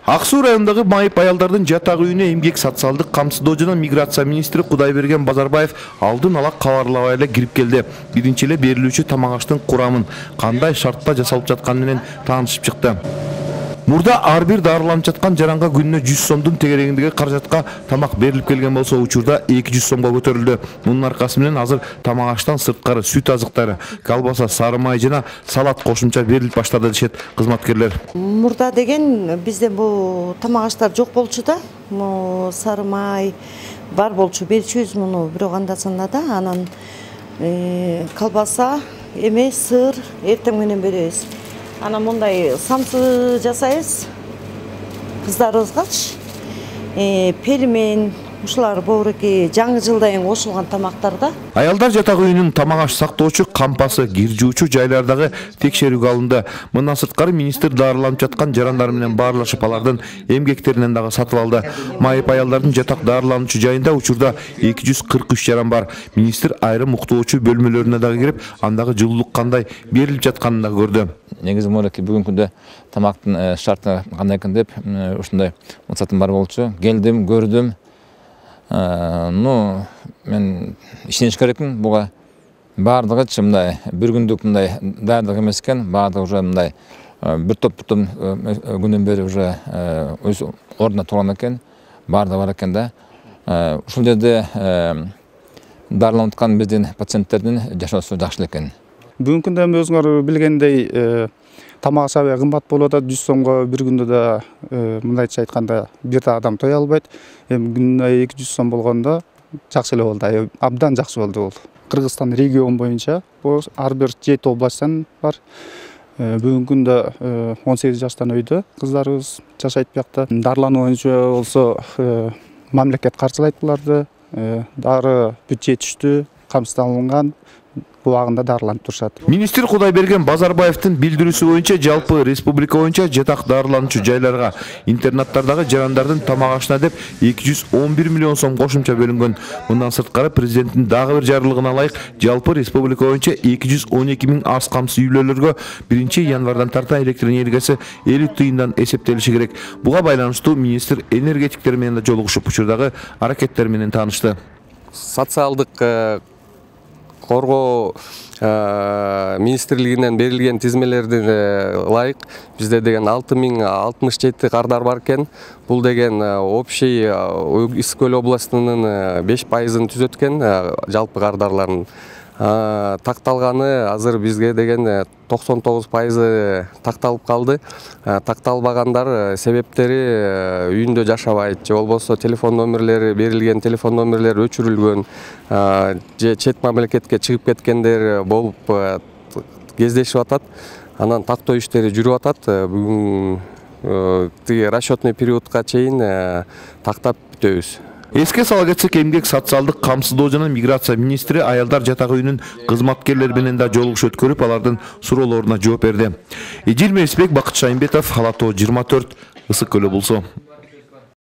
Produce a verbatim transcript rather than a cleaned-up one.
Ак Суу районундагы майып аялдардын жатак үйүнө эмгек социалдык камсыздоо жана миграция министри Кудайберген Базарбаев алдын ала кабарлабай эле кирип келди. Биринчи эле берилүүчү тамак аштын курамын, кандай шартта жасалып жатканы менен таанышып чыкты. Мурда ар бир дарыланып жаткан жаранга күнүнө жүз сомдун тегерегиндеги каражатка тамак берилип келген болсо, учурда эки жүз сомго көтөрүлдү. Мунун аркасы менен азыр тамак аштан сырткары сүт азыктары, колбаса, сары май жана салат кошумча берилип баштады дешет кызматкерлер. Мурда деген бизде бул тамак аштар жок болчу да. Сары май бар болчу, берчүбүз муну бирок анда-санда да. Анан колбаса, эме сыр эртең менен беребиз. Ана мындай самсы жасайбыз кыздарыбызгачы. Пельмен, ушулар боореки жаңы жылдайын кошулган тамактар да. Аялдар жатак үйүнүн тамак аш сактоочу кампасы, кир жуучу жайлардагы текшерүүгө алынды. Мындан сырткары министр дарыланып жаткан жарандар менен баарлашып алардын эмгектеринен дагы сатып алды. Майып аялдардын жатак дарылануучу жайында учурда эки жүз кырк үч жаран бар. Министр айрым уктоочу бөлмөлөрүнө дагы кирип, андагы жылуулук кандай берилип жатканын да көрдү. Негизи молеки бүгүнкү күндө тамактын шарты кандай экен деп ушундай максатым бар болчу. Келдим, көрдүм. Ну, мен ишениш керекмин буга. Бардыгы мындай бир күндүк мындай даярдык эмес экен. Бардыгы уже мындай бир топ бир топ күндөн бери уже өз ордуна турган экен. Бардыгы бар экен да. Ушул жерде дарыланып аткан биздин пациенттердин жашоосу жакшы экен. Бүгүнкү күндө өзүңөр билгендей тамак аш аябай кымбат болуп атат. жүз сомго бир күндө да мындайча айтканда бир да адам тое албайт. Эми күнүнө эки жүз сом болгондо жакшы эле болду. Абдан жакшы болду бул. Кыргызстан регион боюнча бул ар бир жети областтан бар. Бүгүнкү күндө он сегиз жаштан өйдө кыздарыбыз жашайт биякта. Дарылануу боюнча болсо мамлекет каржылайт буларды. Дары бюджет жетиштүү, камсыздалынган. Убагында дарыланып турушат. Министр Кудайберген Базарбаевдин билдирүүсү боюнча жалпы республика боюнча жатак дарылануучу жайларга, интернаттардагы жарандардын тамак ашына деп эки жүз он бир миллион сом кошумча бөлүнгөн. Мындан сырткары президенттин дагы бир жарлыгына ылайык жалпы республика боюнча эки жүз он эки миң аз камсыз үйлөргө биринчи январдан тарта электр энергиясы элүү тыйындан эсептелиши керек. Буга байланыштуу министр энергетиктер менен да жолугушуп, учурдагы аракеттер менен таанышты. Социалдык коргоо министрлигинен берилген тизмелердин ылайык бизде деген алты миң алтымыш жети кардар бар экен. Бул деген общий Ысык Көл областынын беш пайызын түзөт экен жалпы кардарлардын. Такталганы азыр бизге деген токсон тогуз пайызы такталып калды. Такталбагандар себептери үйүндө жашабайт, же болбосо телефон номерлери берилген телефон номерлери өчүрүлгөн, же чет мамлекетке чыгып кеткендер болуп кездешип атат. Анан тактоо иштери жүрүп атат. Бүгүн тиги расчетный периодка чейин тактап бүтөбүз. Эске сала кетсек, эмгек социалдык камсыздоо жана миграция министри аялдар жатак үйүнүн кызматкерлери менен да жолугуш өткөрүп, алардын суроолоруна жооп берди. Эжил Мерисбек, Бакыт Шайымбетов, Ала Тоо жыйырма төрт, Ысык Көл облусу.